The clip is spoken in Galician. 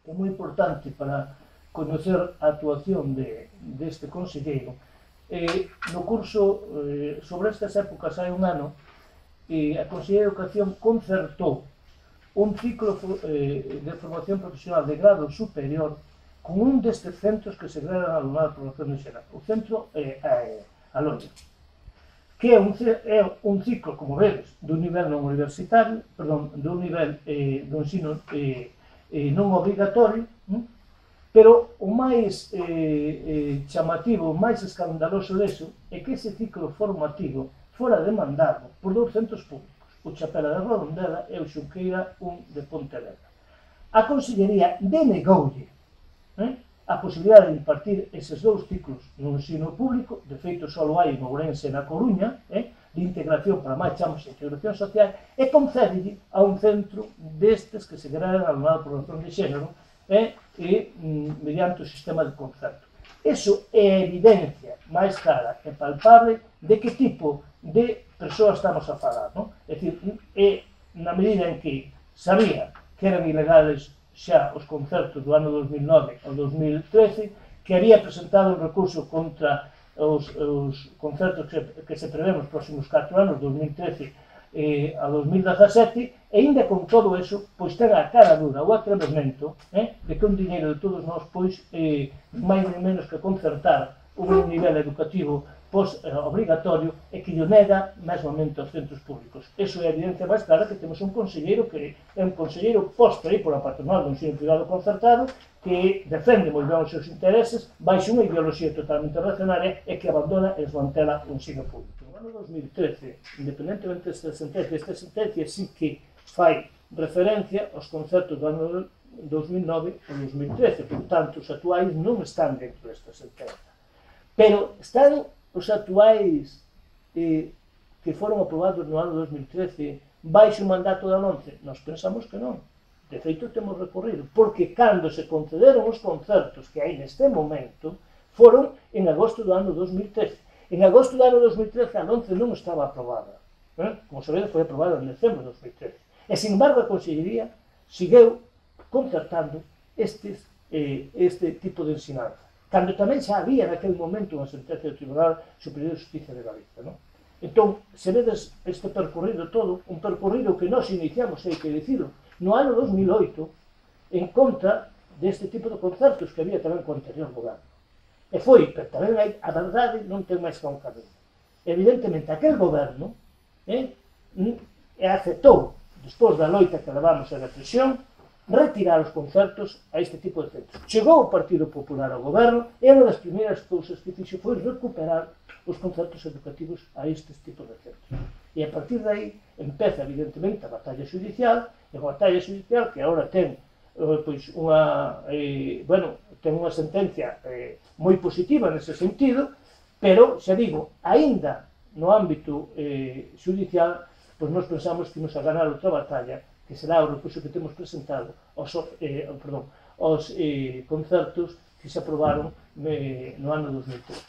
é moi importante para conocer a actuación deste conselleiro. No curso sobre estas épocas hai un ano, a Consellería de Educación concertou un ciclo de formación profesional de grado superior con un destes centros que segregan a alumnado de formación de xeral. O centro é a Loia, que é un ciclo, como vedes, dun nivel non universitario, perdón, dun nivel do ensino non obrigatorio, pero o máis chamativo, o máis escandaloso deso é que ese ciclo formativo fora demandado por dous centros públicos, o Chapela de Redondela e o Xunqueira 1 de Pontevedra. A Consellería denegoulle a posibilidade de impartir eses dous ciclos no ensino público, de feito só hai en Ourense e na Coruña, de integración, para máis chamamos integración social, e concédelle a un centro destes que se crean alumnado por razón de xénero e mediante o sistema de concerto. Iso é a evidencia máis clara e palpable de que tipo de persoas estamos a falar, non? É dicir, na medida en que sabía que eran ilegales xa os concertos do ano 2009 ao 2013, que había presentado un recurso contra os concertos que se prevén nos próximos 4 anos, 2013 a 2017, e ainda con todo eso, pois ten a cara dura, o atrevemento, de que un diñeiro de todos nós, pois, máis nem menos que concertar un nivel educativo post-obrigatorio e que lle nega mesmamente aos centros públicos. Iso é a evidencia máis clara que temos un conselleiro que é un conselleiro posto aí pola patronal do ensino privado concertado que defende moi ben os seus intereses baixo unha ideoloxía totalmente reaccionaria e que abandona e desmantela o ensino público. No ano 2013, independentemente desta sentencia, esta sentencia sí que fai referencia aos concertos do ano 2009 e 2013, por tanto, os actuais non están dentro desta sentencia. Pero están os actuais que foron aprobados no ano 2013 baixo o mandato da LOMCE? Nós pensamos que non. De feito, temos recorrido, porque cando se concederon os concertos que hai neste momento foron en agosto do ano 2013. En agosto do ano 2013 a LOMCE non estaba aprobada. Como sabedes, foi aprobada en decembro de 2013. E, sin embargo, a Consellería seguiu concertando este tipo de ensinanza, cando tamén xa había naquele momento unha sentencia do Tribunal Superior de Justicia de Galicia. Entón, se vedes este percorrido todo, un percorrido que nós iniciamos, hai que dicilo, no ano 2008, en contra deste tipo de concertos que había tamén co anterior goberno. E foi, pero tamén a verdade non ten máis que un camiño. Evidentemente, aquel goberno aceptou, despois da loita que levamos a represión, retirar os concertos a este tipo de centros. Chegou o Partido Popular ao goberno e unha das primeiras cousas que fixo foi recuperar os concertos educativos a estes tipos de centros. E a partir de aí empeza, evidentemente, a batalla judicial, e a batalla judicial que agora ten unha sentencia moi positiva nese sentido, pero, xa digo, aínda no ámbito judicial, pois nós pensamos que imos a ganar outra batalla, que será o recurso que temos presentado aos concertos que se aprobaron no ano 2013.